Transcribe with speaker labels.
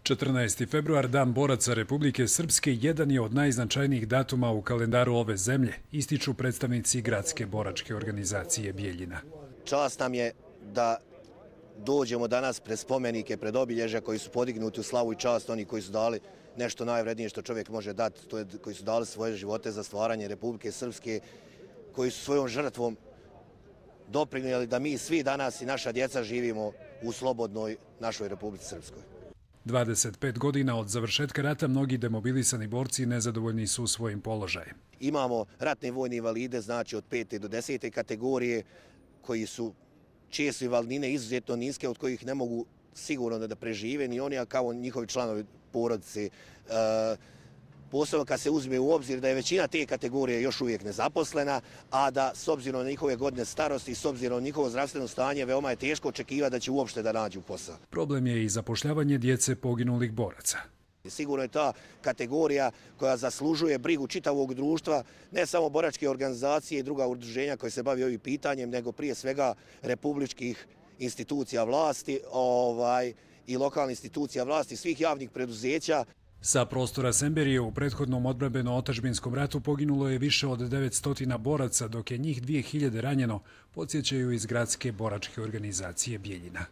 Speaker 1: 14. februar, Dan boraca Republike Srpske, jedan je od najznačajnijih datuma u kalendaru ove zemlje, ističu predstavnici Gradske boračke organizacije Bijeljina.
Speaker 2: Čast nam je da dođemo danas pred spomenike, pred obilježja koji su podignuti u slavu i čast, oni koji su dali nešto najvrednije što čovjek može dati, to je koji su dali svoje živote za stvaranje Republike Srpske, koji su svojom žrtvom doprinijeli da mi svi danas i naša djeca živimo u slobodnoj našoj Republici Srpskoj.
Speaker 1: 25 godina od završetka rata mnogi demobilisani borci nezadovoljni su svojim položajem.
Speaker 2: Imamo ratne vojne invalide, znači od 5. do 10. kategorije, koji su često invalidnine izuzetno niske, od kojih ne mogu sigurno da prežive ni oni, a kao njihovi članovi porodice. Posebno kad se uzme u obzir da je većina te kategorije još uvijek nezaposlena, a da s obzirom na njihove godine starosti i s obzirom na njihovo zdravstveno stanje veoma je teško očekivati da će uopšte da nađu posao.
Speaker 1: Problem je i zapošljavanje djece poginulih boraca.
Speaker 2: Sigurno je ta kategorija koja zaslužuje brigu čitavog društva, ne samo boračke organizacije i druga udruženja koje se bavi ovim pitanjem, nego prije svega republičkih institucija vlasti i lokalnih institucija vlasti, svih javnih preduzeća.
Speaker 1: Sa prostora Semberije u prethodnom odbrambeno-otadžbinskom ratu poginulo je više od 900 boraca, dok je njih 2000 ranjeno, podsjećaju iz Gradske boračke organizacije Bijeljina.